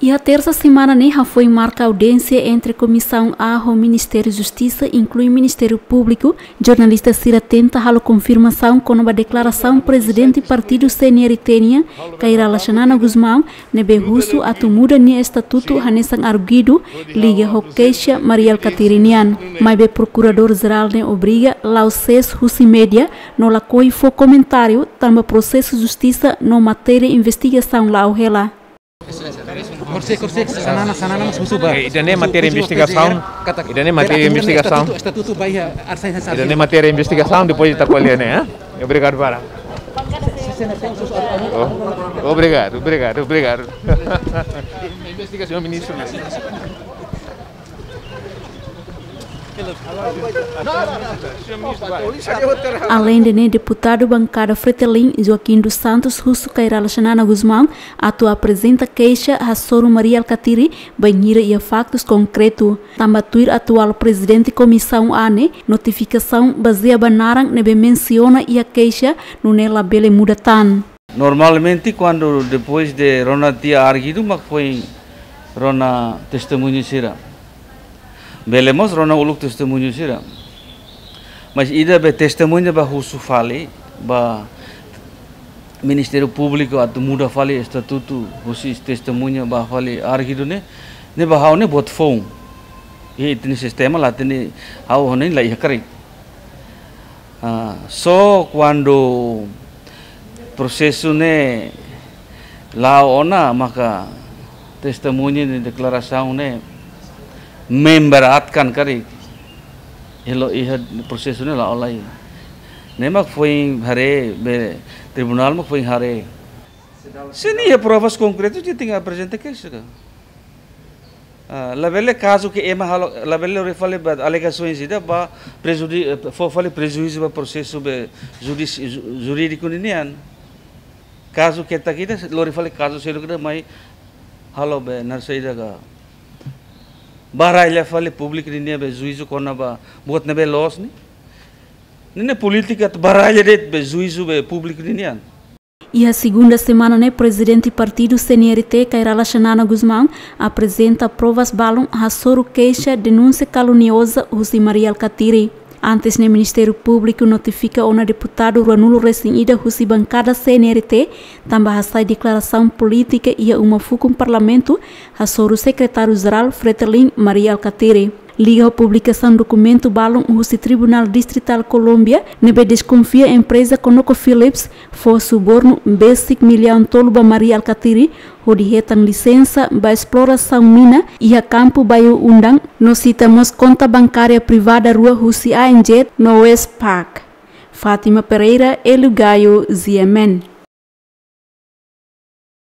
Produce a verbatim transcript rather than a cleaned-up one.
Iha tersa semana ne'e hafoin marka audiénsia entre Komisaun A ho Ministériu Justisa, inklui Ministériu Públiku. Jornalista sira tenta halo konfirmasaun kona-ba deklarasaun Prezidente Partidu C N R T nian, Kay Rala Xanana Gusmão, ne'ebé husu atu muda nia estatutu hanesan arguidu liga ho keixa Mari Alkatiri nian. Maibé Prokuradór Jerál ne'e obriga la'o sees husi média no lakohi fó komentáriu tanba prosesu justisa no matéria investigasaun la'o hela. Korse, korse, Xanana, Xanana mós husu ba. Eh, ida-ne'e matéria investigasaun. Ida-ne'e matéria investigasaun. Estatutu, estatutu ba iha arsain hanesan. Ida-ne'e matéria investigasaun, depois ita ko'alia ne'e, eh? Obrigadu barak. Oh, obrigadu, obrigadu, obrigadu. Investigasaun, ministru. Aleinde ne'e, deputadu bankada Fretilin, Joaquim dos Santos, husu Kay Rala Xanana Gusmão atu aprezenta keixa hasoru Mari Alkatiri bainhira iha faktus konkretu. Tanba tuir atuál prezidente Komisaun A ne'e, notifikasaun bazeia ba naran ne'ebé mensiona iha keixa nune'e labele muda tan. Normalmente, kuandu depois de rona tiha arguidu, mak foin rona testemuña sira. Bele mós rona uluk testemuña sira. Mas ida be testemuña ba husu fali ba Ministériu Públiku atu muda fali estatutu, husi testemuña ba fali arguidu ne'e, ne'e ba ha'u ne'e buat foun. Iha ita-nia sistema la hatene, ha'u hanoin la iha karik. Ah, só kuandu prosesu ne'e la'o ona, maka testemuña no deklarasaun ne'e memberatkan karik. Halo iha prosesu ne'e la'o lai. Ne'e mak foin haree, be tribunál mak foin haree. Se nia iha provas konkretu, nia tenke aprezenta keixa ka. Ah, labele kazu ke ema halo, labele lori fali ba alegasoens ida ba prejudi-, eh, fó fali prejuízu ba prosesu be judis-, ju-, jurídiku ninian. Kazu ketak ida, lori fali kazu seluk ida mai halo be narsa ida ka. Baralla fali públiku ninia be juízu kona-ba buat ne'ebé loos ne'e. Ne'e polítika atu baralla de'it be juízu be públiku ninian. Iha segunda semana ne'e, prezidente partidu C N R T, Kay Rala Xanana Gusmão, aprezenta provas balun hasoru keixa denúnsia kalunioza husi Mari Alkatiri. Antes ne'e, Ministériu Públiku notifika ona deputadu ruanulu resin ida husi bankada C N R T, tanba hasai deklarasaun polítika iha uma fukun Parlamentu, hasoru Sekretáriu Jerál Fretilin, Mari Alkatiri. Liga ho publikasaun dokumentu balun husi Tribunál Distritál Kolómbia, ne'ebé deskonfia empreza ConocoPhillips fó subornu besik millaun tolu ba Mari Alkatiri, hodi hetan lisensa ba esplorasaun mina iha kampu Bayu Undang, no sita mós konta bankária privada rua husi A N Z no Westpac. Fátima Pereira, Hélio Gaio, G M N.